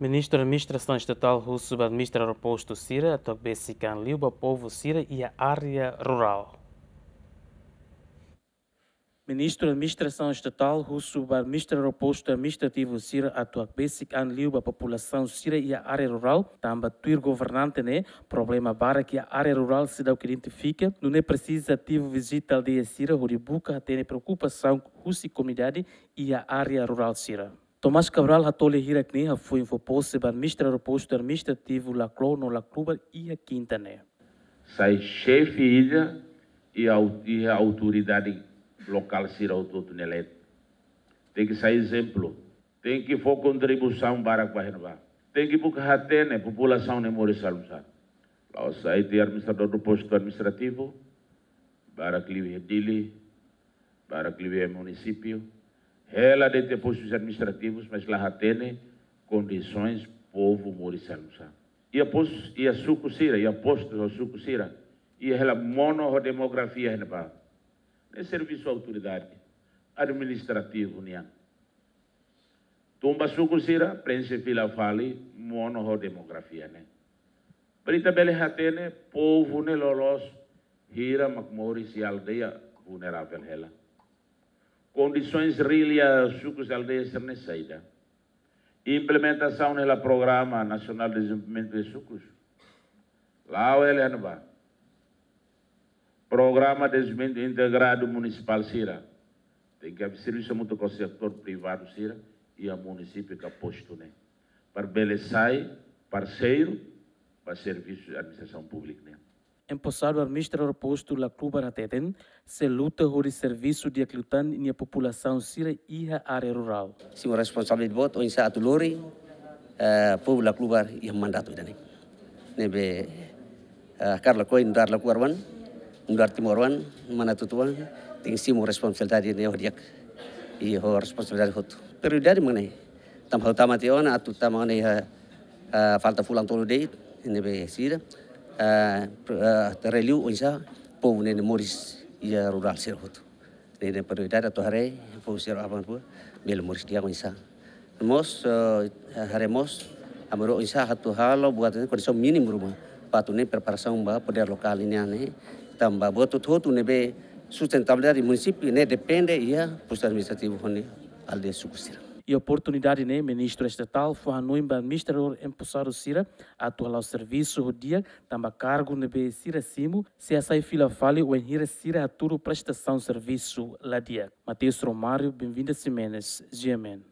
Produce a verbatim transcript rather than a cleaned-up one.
Ministru Administrasaun Estatál husu ba administradór postu sira atu hakbesik an liu ba povu sira iha área rurál. Ministru Administrasaun Estatál husu ba administradór postu administrativu sira atu hakbesik an liu ba populasaun sira iha área rurál, tanba tuir governante ne'e, problema barak iha área rurál seidauk identifika, nune'e presiza ativu vizita aldeia sira hodi buka hatene preokupasaun husi komunidade iha área rurál sira. Tomás Cabral hato'o lia hirak-ne'e hafoin fó pose ba administradór postu administrativu Laclo no Laclubar iha kinta ne'e. Sai xefe ida iha au-, iha autoridade lokál sira hotu-hotu nia leet. Tenke sai ezemplu. Tenke fó kontribuisaun barak ba iha ne'ebá. Tenke buka hatene populasaun ne'e moris halo nu'usá. La'ós sai tiha administradór postu administrativu, barak liu iha Dili, barak liu iha munisípiu, hela de'it iha postus administrativus, mas la hatene kondisoens povu moris halo nu'usá. Iha pos-, iha suku sira, iha postus ho suku sira, iha hela monu ho demografia iha ne'ebá. Ne'e servisu autoridade administrativu nian. Tun ba suku sira, preenxe fila fali monu ho demografia ne'e. Para ita bele hatene povu ne'e loloos hira mak moris iha aldeia vulneravel hela. Kondisoens realu iha sukus, aldeias sira-ne'e saida. Implementasaun hela Programa Nasionál de Dezenvolvimentu de Sukus. La'o hela iha ne'ebá. Programa Dezenvolvimentu Integradu Munisipál sira. Tenke servisu hamutuk ho setór privadu sira iha munisípiu ka postu ne'e. Para bele sai parseiru ba servisu administrasaun públika ne'e. Emposadu administradór postu Laclubar hateten, sei luta hodi servisu di'ak liután nia populasaun sira iha área rurál. Simu responsabilidade boot oinsá atu lori, eh, povu Laclubar iha mandatu ida-ne'e. Ne'ebé, eh, hakarak lakohi nu'udar Laclubar oan, nu'udar timoroan, manatuto-oan, tenke simu responsabilidade ne'e ho di'ak, i ho responsabilidade hotu. Prioridade mak ne'e. Tanba ha'u tama tiha ona, atu tama ona iha, eh, falta fulan tolu de'it, ne'ebé sira, eh, pr-, eh, atu haree liu oinsá povu ne'e moris iha rurál sira hotu. Ne'e prioridade atu haree povu sira aban-bainrua bele moris di'ak oinsá. Mós, eh, haree mós, ami rua oinsá atu halo buat ne'e kondisaun mínimu ruma. Para atu ne'e preparasaun ba podér lokál nian ne'e. Tanba buat hotu-hotu ne'ebé sustentabilidade munisípiu ne'e depende iha postu administrativu ho nia aldeia suku sira. Iha oportunidade ne'e, Ministru Estatál fó hanoin ba administradór emposadu sira atu hala'o servisu ho di'ak, tanba kargu ne'ebé sira simu sei hasai fila fali wainhira sira hatudu prestasaun servisu la di'ak. Mateus Romário, Benvinda Ximenes, G M N.